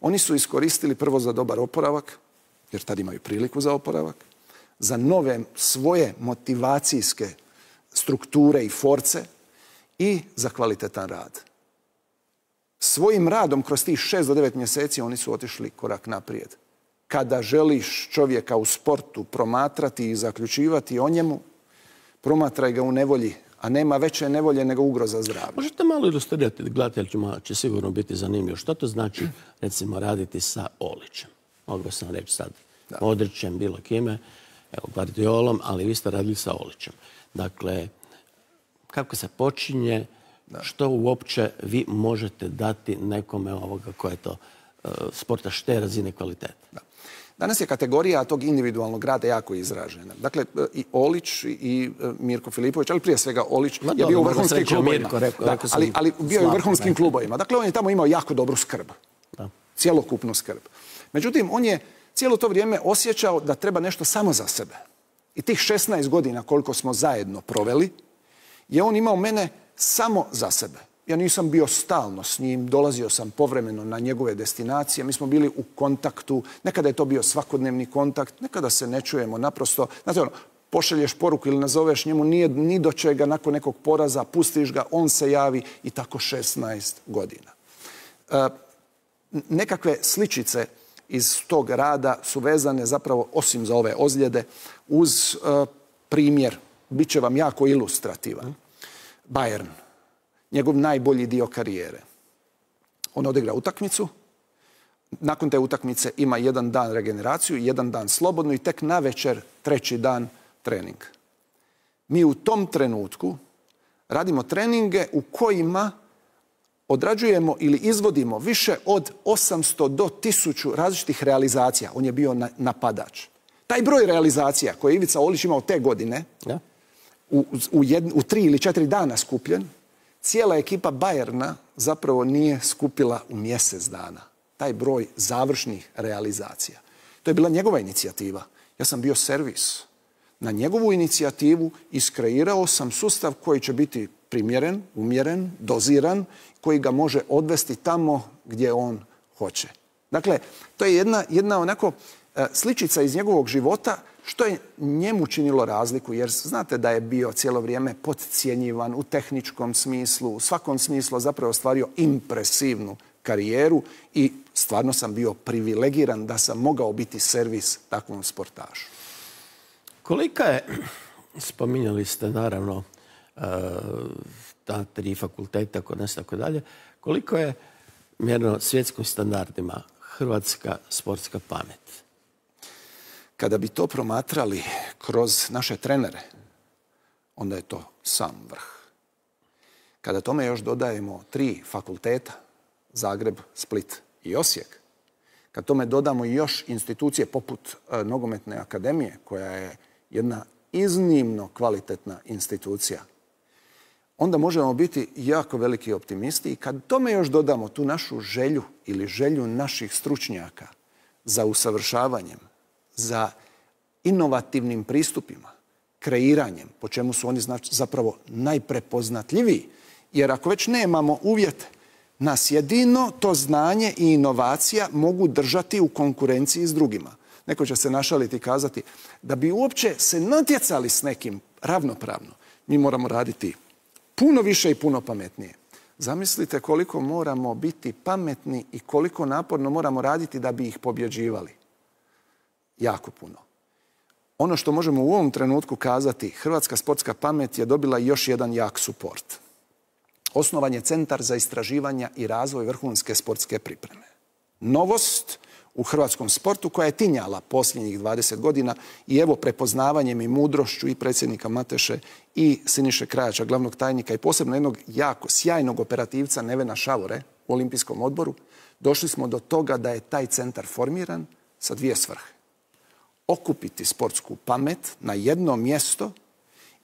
oni su iskoristili prvo za dobar oporavak, jer tad imaju priliku za oporavak, za nove svoje motivacijske strukture i force i za kvalitetan rad. Svojim radom kroz tih šest do devet mjeseci oni su otišli korak naprijed. Kada želiš čovjeka u sportu promatrati i zaključivati o njemu, promatraj ga u nevolji, a nema veće nevolje nego ugroza zdravlja. Možete malo ilustrirati, gledateljima će sigurno biti zanimljivo. Što to znači, recimo, raditi sa Olićem? Mogu sam reći sad Modrićem, bilo kime, evo, Guardiolom, ali vi ste radili sa Olićem. Dakle, kako se počinje, što uopće vi možete dati nekome ovoga koja je to sportaš te razine kvalitete? Da. Danas je kategorija tog individualnog rada jako izražena. Dakle, i Olić i Mirko Filipović, ali prije svega Olić Ma, je dobro, bio u vrhunskim klubovima. Mirko, rekao, da, rekao ali, ali bio je u vrhunskim ne. klubovima. Dakle, on je tamo imao jako dobru skrb. Da. Cijelokupnu skrb. Međutim, on je cijelo to vrijeme osjećao da treba nešto samo za sebe. I tih šesnaest godina koliko smo zajedno proveli, je on imao mene samo za sebe. Ja nisam bio stalno s njim, dolazio sam povremeno na njegove destinacije, mi smo bili u kontaktu, nekada je to bio svakodnevni kontakt, nekada se ne čujemo, naprosto, znate ono, pošalješ poruku ili nazoveš njemu, nije ni do čega nakon nekog poraza, pustiš ga, on se javi i tako šesnaest godina. E, nekakve sličice iz tog rada su vezane zapravo, osim za ove ozljede, uz e, primjer, bit će vam jako ilustrativan. Bayern. Njegov najbolji dio karijere. On odigra utakmicu, nakon te utakmice ima jedan dan regeneraciju, jedan dan slobodnu i tek navečer treći dan trening. Mi u tom trenutku radimo treninge u kojima odrađujemo ili izvodimo više od osamsto do tisuću različitih realizacija. On je bio napadač. Taj broj realizacija koje je Ivica Olić imao te godine, ja. u, u, jed, u tri ili četiri dana skupljen, cijela ekipa Bayerna zapravo nije skupila u mjesec dana taj broj završnih realizacija. To je bila njegova inicijativa. Ja sam bio servis. Na njegovu inicijativu iskreirao sam sustav koji će biti primjeren, umjeren, doziran, koji ga može odvesti tamo gdje on hoće. Dakle, to je jedna, jedna onako sličica iz njegovog života što je njemu činilo razliku, jer znate da je bio cijelo vrijeme podcjenjivan u tehničkom smislu, u svakom smislu zapravo ostvario impresivnu karijeru i stvarno sam bio privilegiran da sam mogao biti servis takvom sportašu. Kolika je, spominjali ste naravno ta tri fakulteta kod nas tako dalje, koliko je mjerno svjetskim standardima hrvatska sportska pamet? Kada bi to promatrali kroz naše trenere, onda je to sam vrh. Kada tome još dodajemo tri fakulteta, Zagreb, Split i Osijek, kad tome dodamo još institucije poput e, Nogometne akademije, koja je jedna iznimno kvalitetna institucija, onda možemo biti jako veliki optimisti i kad tome još dodamo tu našu želju ili želju naših stručnjaka za usavršavanjem, za inovativnim pristupima, kreiranjem, po čemu su oni znači zapravo najprepoznatljiviji, Jer ako već nemamo uvjete, nas jedino to znanje i inovacija mogu držati u konkurenciji s drugima. Neko će se našaliti i kazati da bi uopće se natjecali s nekim ravnopravno, mi moramo raditi puno više i puno pametnije. Zamislite koliko moramo biti pametni i koliko naporno moramo raditi da bi ih pobjeđivali. Jako puno. Ono što možemo u ovom trenutku kazati, hrvatska sportska pamet je dobila još jedan jak suport. Osnovan je Centar za istraživanja i razvoj vrhunske sportske pripreme. Novost u hrvatskom sportu koja je tinjala posljednjih dvadeset godina i evo prepoznavanjem i mudrošću i predsjednika Mateše i Siniše Krajača, glavnog tajnika i posebno jednog jako sjajnog operativca Nevena Šavore u Olimpijskom odboru, došli smo do toga da je taj centar formiran sa dvije svrhe. Okupiti sportsku pamet na jedno mjesto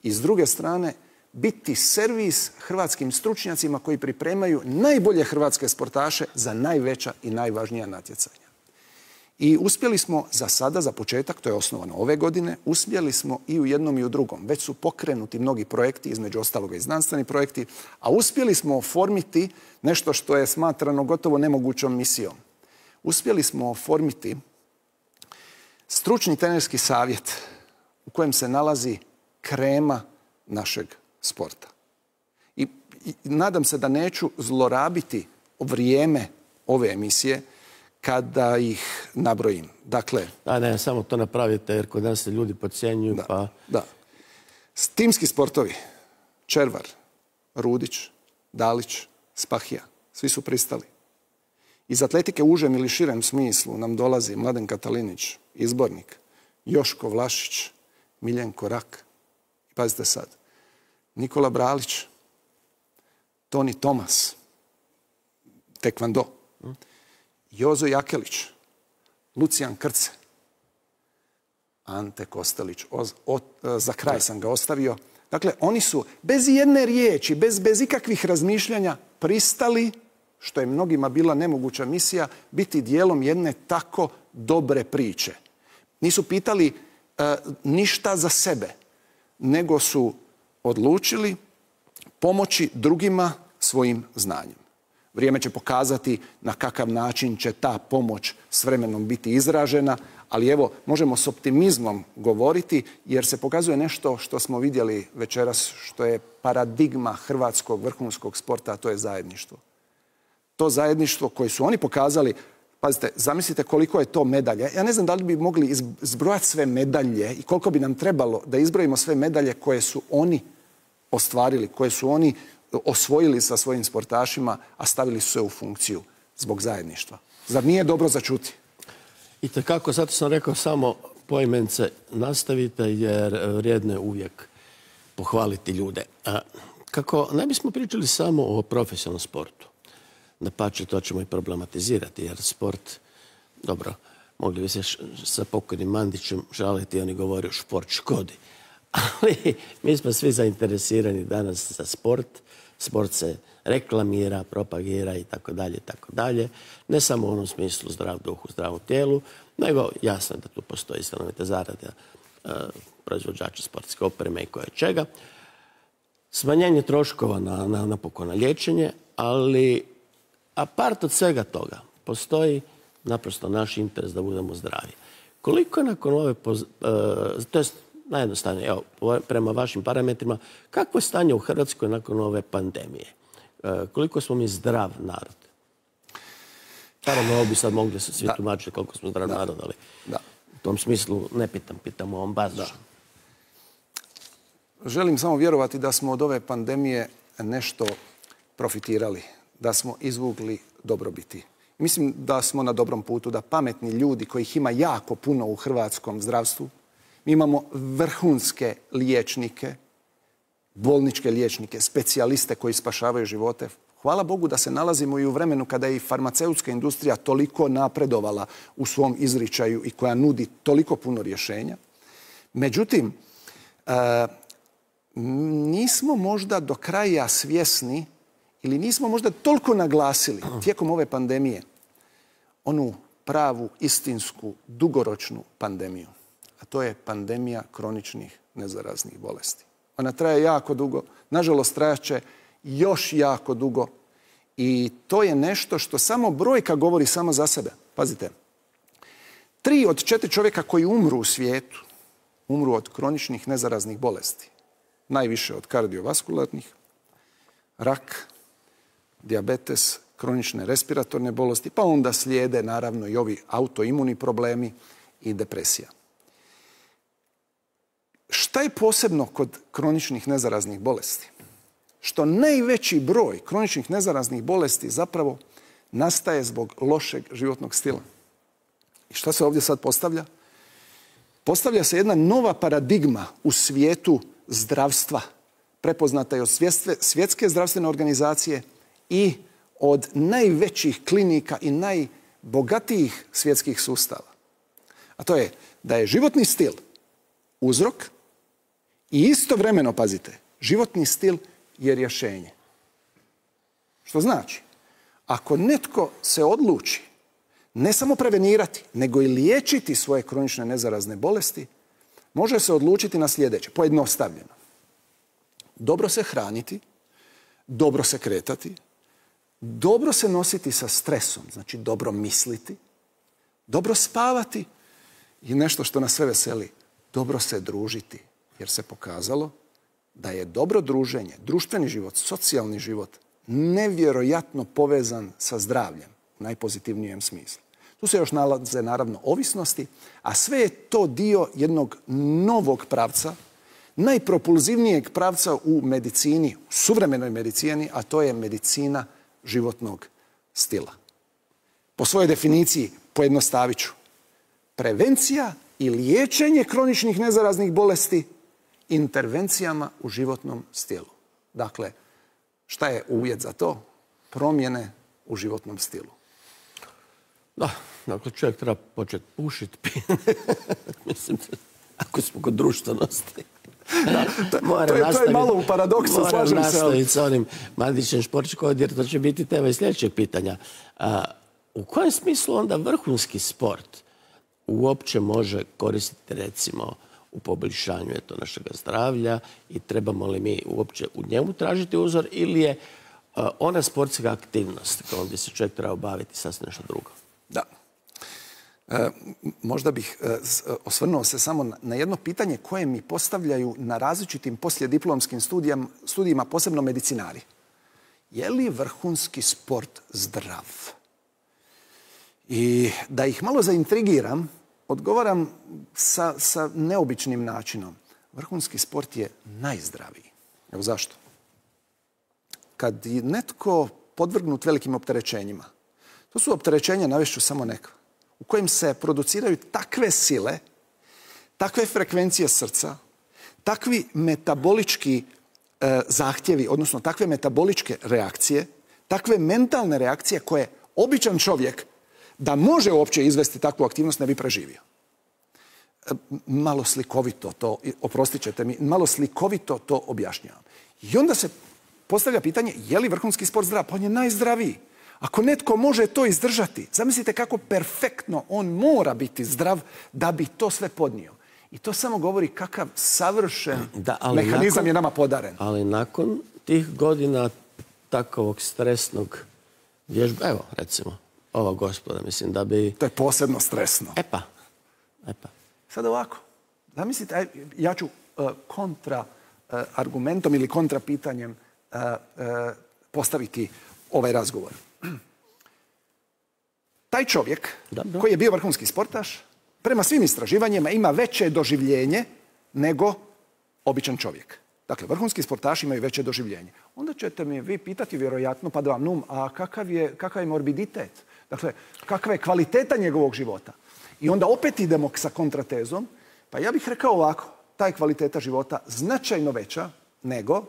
i s druge strane biti servis hrvatskim stručnjacima koji pripremaju najbolje hrvatske sportaše za najveća i najvažnija natjecanja. I uspjeli smo za sada, za početak, to je osnovano ove godine, uspjeli smo i u jednom i u drugom. Već su pokrenuti mnogi projekti, između ostaloga i znanstveni projekti, a uspjeli smo oformiti nešto što je smatrano gotovo nemogućom misijom. Uspjeli smo oformiti stručni trenerski savjet u kojem se nalazi krema našeg sporta. I, i nadam se da neću zlorabiti vrijeme ove emisije kada ih nabrojim. Dakle, a ne, samo to napravite jer kod nas se ljudi podcjenjuju. Da, pa... da. Timski sportovi, Červar, Rudić, Dalić, Spahija, svi su pristali. Iz atletike u užem ili širem smislu nam dolazi Mladen Katalinić, izbornik, Joško Vlašić, Miljenko Rak. Pazite sad, Nikola Bralić, Toni Tomas, tekvando, Jozo Jakelić, Lucijan Krce, Ante Kostelić, o, o, za kraj sam ga ostavio. Dakle, oni su bez jedne riječi, bez, bez ikakvih razmišljanja pristali, što je mnogima bila nemoguća misija, biti dijelom jedne tako dobre priče. Nisu pitali e, ništa za sebe, nego su odlučili pomoći drugima svojim znanjem. Vrijeme će pokazati na kakav način će ta pomoć s vremenom biti izražena, ali evo, možemo s optimizmom govoriti jer se pokazuje nešto što smo vidjeli večeras, što je paradigma hrvatskog vrhunskog sporta, a to je zajedništvo. To zajedništvo koje su oni pokazali, pazite, zamislite koliko je to medalje. Ja ne znam da li bi mogli izbrojati sve medalje i koliko bi nam trebalo da izbrojimo sve medalje koje su oni ostvarili, koje su oni osvojili sa svojim sportašima, a stavili su se u funkciju zbog zajedništva. Zar nije dobro začuti? I takako, zato sam rekao samo poimence nastavite jer vrijedno je uvijek pohvaliti ljude. A kako ne bismo pričali samo o profesionalnom sportu, dapače, to ćemo i problematizirati jer sport, dobro, mogli bi se sa pokojnim Mandićem žaliti, oni govore šport škodi. Ali mi smo svi zainteresirani danas za sport. Sport se reklamira, propagira i tako dalje, i tako dalje. Ne samo u onom smislu zdrav duh u zdravom tijelu, nego jasno da tu postoji stanovita zarada e, proizvođača sportske opreme i koje čega. Smanjenje troškova na, na, napokon na liječenje, ali apart od svega toga postoji naprosto naš interes da budemo zdravi. Koliko je nakon ove, poz, e, to jest najjednostavnije, evo, prema vašim parametrima, kakvo je stanje u Hrvatskoj nakon ove pandemije? E, koliko smo mi zdrav narod? Naravno, ovo bi sad mogli se svi da. tumačiti koliko smo zdrav da. narod, ali da. u tom smislu ne pitam, pitam o ovom bazičnom. Želim samo vjerovati da smo od ove pandemije nešto profitirali, da smo izvukli dobrobiti. Mislim da smo na dobrom putu, da pametni ljudi kojih ima jako puno u hrvatskom zdravstvu, mi imamo vrhunske liječnike, bolničke liječnike, specijaliste koji spašavaju živote. Hvala Bogu da se nalazimo i u vremenu kada je i farmaceutska industrija toliko napredovala u svom izričaju i koja nudi toliko puno rješenja. Međutim, e, nismo možda do kraja svjesni ili nismo možda toliko naglasili tijekom ove pandemije onu pravu, istinsku, dugoročnu pandemiju. A to je pandemija kroničnih nezaraznih bolesti. Ona traje jako dugo, nažalost trajaće još jako dugo. I to je nešto što samo brojka govori samo za sebe. Pazite, tri od četiri čovjeka koji umru u svijetu, umru od kroničnih nezaraznih bolesti. Najviše od kardiovaskularnih, rak, dijabetes, kronične respiratorne bolesti, pa onda slijede naravno i ovi autoimuni problemi i depresija. Šta je posebno kod kroničnih nezaraznih bolesti? Što najveći broj kroničnih nezaraznih bolesti zapravo nastaje zbog lošeg životnog stila. I šta se ovdje sad postavlja? Postavlja se jedna nova paradigma u svijetu zdravstva, prepoznata je od Svjetske zdravstvene organizacije i od najvećih klinika i najbogatijih svjetskih sustava. A to je da je životni stil uzrok i istovremeno, pazite, životni stil je rješenje. Što znači, ako netko se odluči ne samo prevenirati, nego i liječiti svoje kronične nezarazne bolesti, može se odlučiti na sljedeće, pojednostavljeno. Dobro se hraniti, dobro se kretati, dobro se nositi sa stresom, znači dobro misliti, dobro spavati i nešto što nas sve veseli, dobro se družiti, jer se pokazalo da je dobro druženje, društveni život, socijalni život nevjerojatno povezan sa zdravljem u najpozitivnijem smislu. Tu se još nalaze naravno ovisnosti, a sve je to dio jednog novog pravca, najpropulzivnijeg pravca u medicini, u suvremenoj medicini, a to je medicina životnog stila. Po svojoj definiciji, pojednostavit ću, prevencija i liječenje kroničnih nezaraznih bolesti intervencijama u životnom stilu. Dakle, šta je uvjet za to? Promjene u životnom stilu. Da, dakle, čovjek treba početi pušiti. Mislim, ako smo kod društvenosti. Da, to, to, je, to je malo u paradoksu, slažem se. Moram nastaviti sa onim Mandićem Šporčko, jer to će biti tema i sljedećeg pitanja. A, u kojem smislu onda vrhunski sport uopće može koristiti, recimo, u poboljšanju eto, našega zdravlja i trebamo li mi uopće u njemu tražiti uzor ili je a, ona sportska aktivnost kojom bi se čovjek trebao baviti sasvim nešto drugo? Da. E, možda bih e, osvrnuo se samo na, na jedno pitanje koje mi postavljaju na različitim poslijediplomskim studijama, studijima, posebno medicinari. Je li vrhunski sport zdrav? I da ih malo zaintrigiram, odgovaram sa, sa neobičnim načinom. Vrhunski sport je najzdraviji. Evo zašto? Kad je netko podvrgnut velikim opterećenjima, to su opterećenja, navešću samo neka, u kojim se produciraju takve sile, takve frekvencije srca, takvi metabolički e, zahtjevi, odnosno takve metaboličke reakcije, takve mentalne reakcije koje običan čovjek da može uopće izvesti takvu aktivnost ne bi preživio. E, malo slikovito to, oprostit ćete mi, malo slikovito to objašnjavam. I onda se postavlja pitanje, je li vrhunski sport zdrav? Pa on je najzdraviji. Ako netko može to izdržati, zamislite kako perfektno on mora biti zdrav da bi to sve podnio. I to samo govori kakav savršen da, mehanizam nakon, je nama podaren. Ali nakon tih godina takovog stresnog vježba, evo recimo, ova gospoda, mislim da bi... To je posebno stresno. E pa, e pa. Sad ovako, zamislite, ja ću uh, kontra uh, argumentom ili kontra pitanjem uh, uh, postaviti ovaj razgovor. Taj čovjek da, da. koji je bio vrhunski sportaš, prema svim istraživanjima ima veće doživljenje nego običan čovjek. Dakle, vrhunski sportaši imaju veće doživljenje. Onda ćete mi vi pitati vjerojatno, pa da vam num, a kakav je, kakav je morbiditet? Dakle, kakva je kvaliteta njegovog života? I onda opet idemo sa kontratezom. Pa ja bih rekao ovako, ta je kvaliteta života značajno veća nego,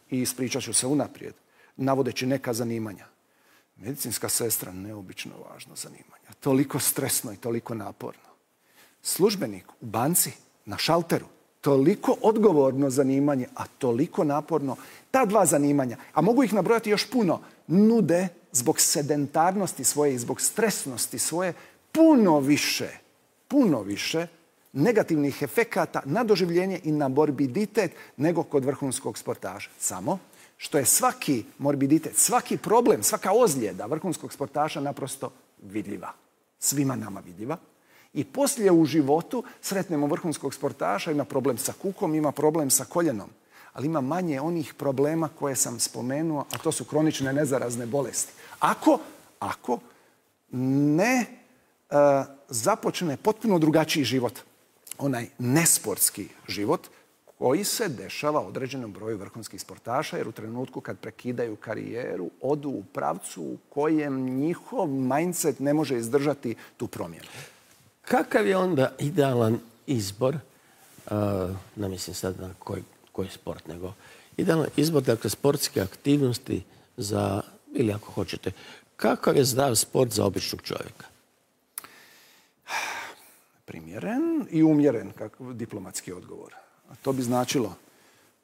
i ispričat ću se unaprijed, navodeći neka zanimanja. Medicinska sestra, neobično važno zanimanje. Toliko stresno i toliko naporno. Službenik u banci, na šalteru, toliko odgovorno zanimanje, a toliko naporno. Ta dva zanimanja, a mogu ih nabrojati još puno, nude zbog sedentarnosti svoje i zbog stresnosti svoje puno više, puno više negativnih efekata na doživljenje i na morbiditet nego kod vrhunskog sportaša. Samo što je svaki morbiditet, svaki problem, svaka ozljeda vrhunskog sportaša naprosto vidljiva. Svima nama vidljiva. I poslije u životu sretnemo vrhunskog sportaša, ima problem sa kukom, ima problem sa koljenom. Ali ima manje onih problema koje sam spomenuo, a to su kronične nezarazne bolesti. Ako, ako ne e, započne potpuno drugačiji život, onaj nesportski život, koji se dešava određenom broju vrhunskih sportaša, jer u trenutku kad prekidaju karijeru, odu u pravcu u kojem njihov mindset ne može izdržati tu promjenu. Kakav je onda idealan izbor, uh, ne mislim sad na koji, koji sport, nego idealan izbor, dakle, sportske aktivnosti za, ili ako hoćete, kakav je zdrav sport za običnog čovjeka? Primjeren i umjeren, kako diplomatski odgovor. A to bi značilo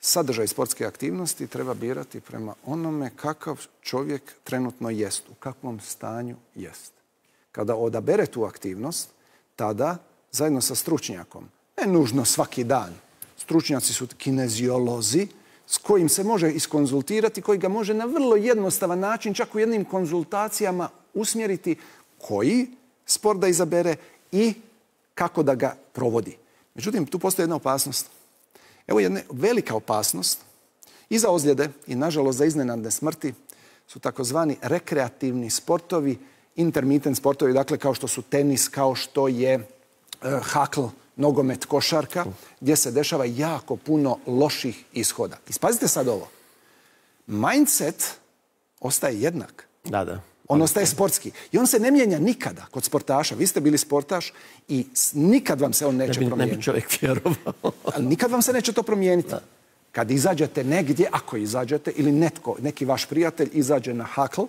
sadržaj sportske aktivnosti treba birati prema onome kakav čovjek trenutno jest, u kakvom stanju jest. Kada odabere tu aktivnost, tada, zajedno sa stručnjakom, ne nužno svaki dan, stručnjaci su kineziolozi s kojim se može iskonzultirati, koji ga može na vrlo jednostavan način, čak u jednim konzultacijama, usmjeriti koji sport da izabere i kako da ga provodi. Međutim, tu postoji jedna opasnost. Evo jedna velika opasnost i za ozljede i, nažalost, za iznenadne smrti su takozvani rekreativni sportovi, intermittent sportovi, dakle kao što su tenis, kao što je e, hakl, nogomet, košarka, gdje se dešava jako puno loših ishoda. Ispazite sad ovo. Mindset ostaje jednak. Da, da. On ostaje sportski. I on se ne mijenja nikada kod sportaša. Vi ste bili sportaš i nikad vam se on neće ne bi, promijeniti. Ne bi čovjek vjerovao. Ali nikad vam se neće to promijeniti. Da. Kad izađete negdje, ako izađete, ili netko, neki vaš prijatelj izađe na hakl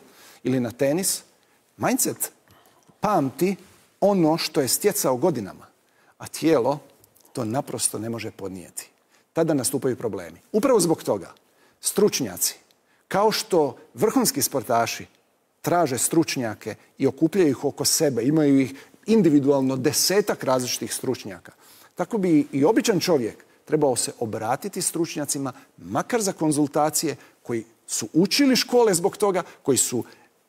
ili na tenis, mindset pamti ono što je stjecao godinama. A tijelo to naprosto ne može podnijeti. Tada nastupaju problemi. Upravo zbog toga stručnjaci, kao što vrhunski sportaši traže stručnjake i okupljaju ih oko sebe, imaju ih individualno desetak različitih stručnjaka. Tako bi i običan čovjek trebao se obratiti stručnjacima, makar za konzultacije, koji su učili škole zbog toga, koji su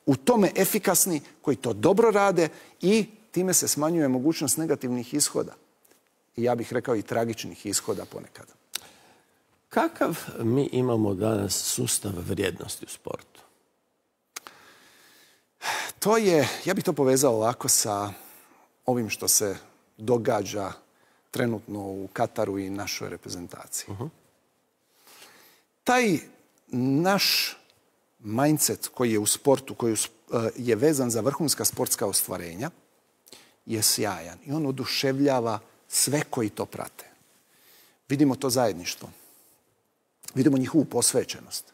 u tome efikasni, koji to dobro rade i time se smanjuje mogućnost negativnih ishoda. I ja bih rekao i tragičnih ishoda ponekad. Kakav mi imamo danas sustav vrijednosti u sportu? To je, ja bih to povezao ovako sa ovim što se događa trenutno u Kataru i našoj reprezentaciji. Uh-huh. Taj naš mindset koji je u sportu, koji je vezan za vrhunska sportska ostvarenja, je sjajan i on oduševljava sve koji to prate. Vidimo to zajedništvo. Vidimo njihovu posvećenost.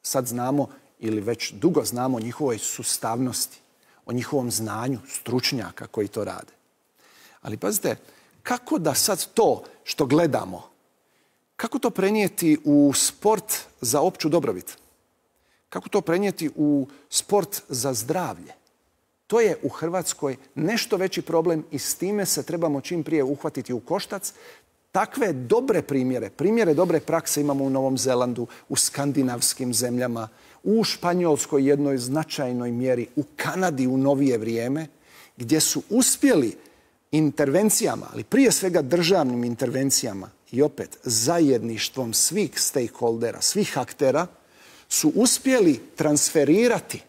Sad znamo, ili već dugo znamo, o njihovoj sustavnosti, o njihovom znanju stručnjaka koji to rade. Ali pazite, kako da sad to što gledamo, kako to prenijeti u sport za opću dobrobit? Kako to prenijeti u sport za zdravlje? To je u Hrvatskoj nešto veći problem i s time se trebamo čim prije uhvatiti u koštac. Takve dobre primjere, primjere dobre prakse imamo u Novom Zelandu, u skandinavskim zemljama, u Španjolskoj jednoj značajnoj mjeri, u Kanadi u novije vrijeme, gdje su uspjeli intervencijama, ali prije svega državnim intervencijama i opet zajedništvom svih stakeholdera, svih aktera, su uspjeli transferirati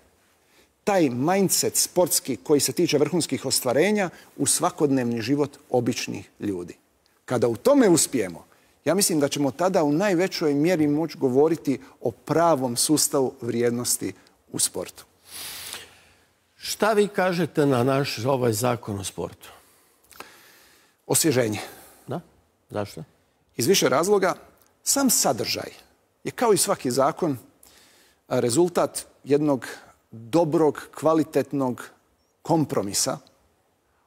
taj mindset sportski koji se tiče vrhunskih ostvarenja u svakodnevni život običnih ljudi. Kada u tome uspijemo, ja mislim da ćemo tada u najvećoj mjeri moći govoriti o pravom sustavu vrijednosti u sportu. Šta vi kažete na naš ovaj zakon o sportu? Osvježenje. Da? Zašto? Iz više razloga. Sam sadržaj je, kao i svaki zakon, rezultat jednog dobrog, kvalitetnog kompromisa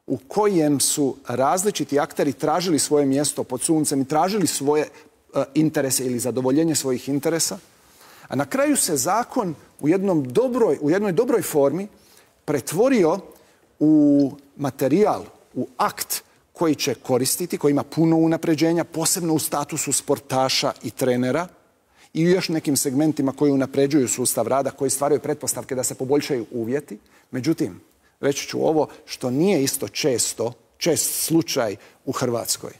u kojem su različiti akteri tražili svoje mjesto pod suncem i tražili svoje uh, interese ili zadovoljenje svojih interesa. A na kraju se zakon u, jednom dobroj, u jednoj dobroj formi pretvorio u materijal, u akt koji će koristiti, koji ima puno unapređenja, posebno u statusu sportaša i trenera, i još nekim segmentima koji unapređuju sustav rada, koji stvaraju pretpostavke da se poboljšaju uvjeti. Međutim, reći ću ovo što nije isto često, čest slučaj u Hrvatskoj.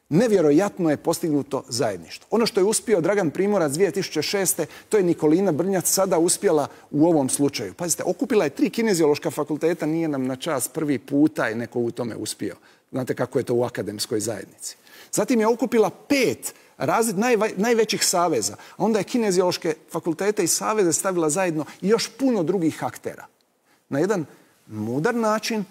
Nevjerojatno je postignuto zajedništvo. Ono što je uspio Dragan Primorac dvije tisuće šeste. to je Nikolina Brnjac sada uspjela u ovom slučaju. Pazite, okupila je tri kineziološka fakulteta, nije nam na čast prvi puta je neko u tome uspio. Znate kako je to u akademskoj zajednici. Zatim je okupila pet razred najvećih saveza. A onda je kineziološke fakultete i saveze stavila zajedno i još puno drugih aktera. Na jedan mudar način,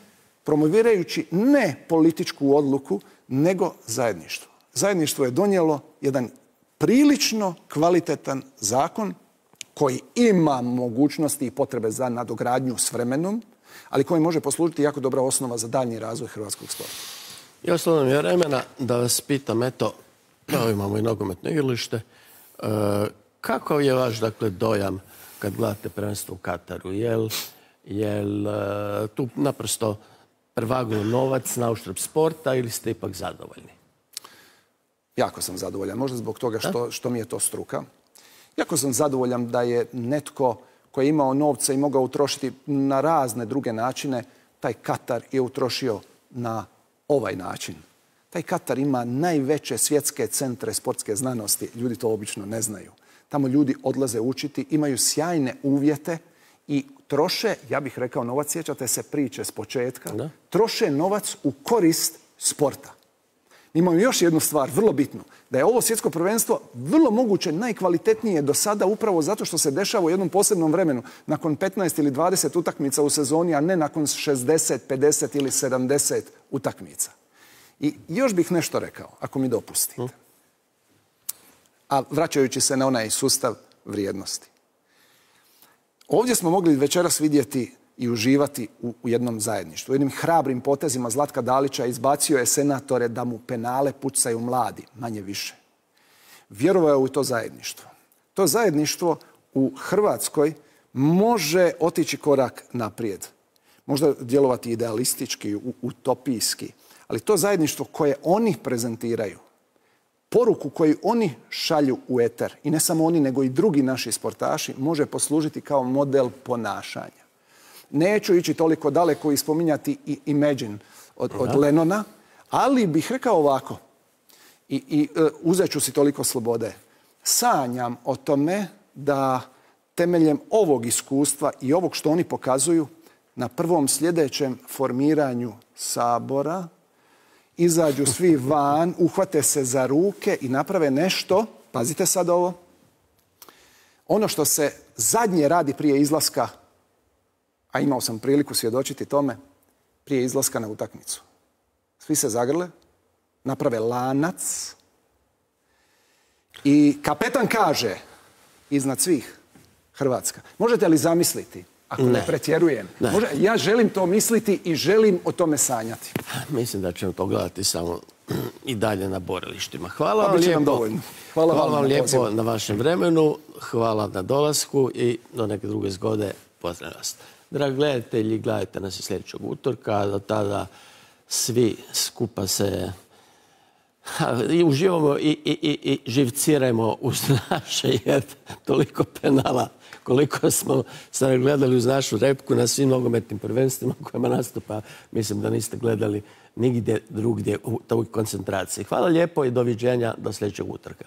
promovirajući ne političku odluku, nego zajedništvo. Zajedništvo je donijelo jedan prilično kvalitetan zakon koji ima mogućnosti i potrebe za nadogradnju s vremenom, ali koji može poslužiti jako dobra osnova za daljnji razvoj hrvatskog sporta. I ostalo nam je vremena da vas pitam, eto, evo imamo i nogometno igralište, e, kakav je vaš, dakle, dojam kad gledate prvenstvo u Kataru? Jel, jel e, tu naprosto prevaguje novac na uštrb sporta ili ste ipak zadovoljni? Jako sam zadovoljan, možda zbog toga što, što mi je to struka. Jako sam zadovoljan da je netko koji je imao novca i mogao utrošiti na razne druge načine, taj Katar je utrošio na ovaj način. Taj Katar ima najveće svjetske centre sportske znanosti. Ljudi to obično ne znaju. Tamo ljudi odlaze učiti, imaju sjajne uvjete i troše, ja bih rekao novac, sjećate se priče s početka, da. troše novac u korist sporta. Imamo još jednu stvar, vrlo bitnu, da je ovo svjetsko prvenstvo vrlo moguće najkvalitetnije do sada upravo zato što se dešava u jednom posebnom vremenu, nakon petnaest ili dvadeset utakmica u sezoni, a ne nakon šezdeset, pedeset ili sedamdeset utakmica. I još bih nešto rekao, ako mi dopustite. A vraćajući se na onaj sustav vrijednosti. Ovdje smo mogli večeras vidjeti i uživati u, u jednom zajedništvu. U jednim hrabrim potezima Zlatka Dalića izbacio je senatore da mu penale pucaju mladi, manje više. Vjerovao je u to zajedništvo. To zajedništvo u Hrvatskoj može otići korak naprijed. Možda djelovati idealistički, utopijski, ali to zajedništvo koje oni prezentiraju, poruku koju oni šalju u eter, i ne samo oni, nego i drugi naši sportaši, može poslužiti kao model ponašanja. Neću ići toliko daleko i spominjati i Imagine od, od Lennona, ali bih rekao ovako, i, i uh, uzet ću si toliko slobode. Sanjam o tome da temeljem ovog iskustva i ovog što oni pokazuju, na prvom sljedećem formiranju Sabora izađu svi van, uhvate se za ruke i naprave nešto, pazite sad ovo, ono što se zadnje radi prije izlaska, a imao sam priliku svjedočiti tome, prije izlaska na utakmicu. Svi se zagrle, naprave lanac i kapetan kaže iznad svih Hrvatska. Možete li zamisliti, ako ne, ne pretjerujem, ne. Može, ja želim to misliti i želim o tome sanjati. Mislim da ćemo to gledati samo i dalje na borilištima. Hvala vam lijepo. Hvala, Hvala vam lijepo na vašem vremenu, hvala na dolasku i do neke druge zgode. Pozdravljam vas. Dragi gledatelji, gledajte nas i sljedećeg utorka. Do tada svi skupa se i uživamo i, i, i, i živcirajmo uz naše, jer toliko penala koliko smo sad gledali uz našu repku na svim nogometnim prvenstvima kojima nastupa, mislim da niste gledali nigdje drugdje u toj koncentraciji. Hvala lijepo i doviđenja do sljedećeg utorka.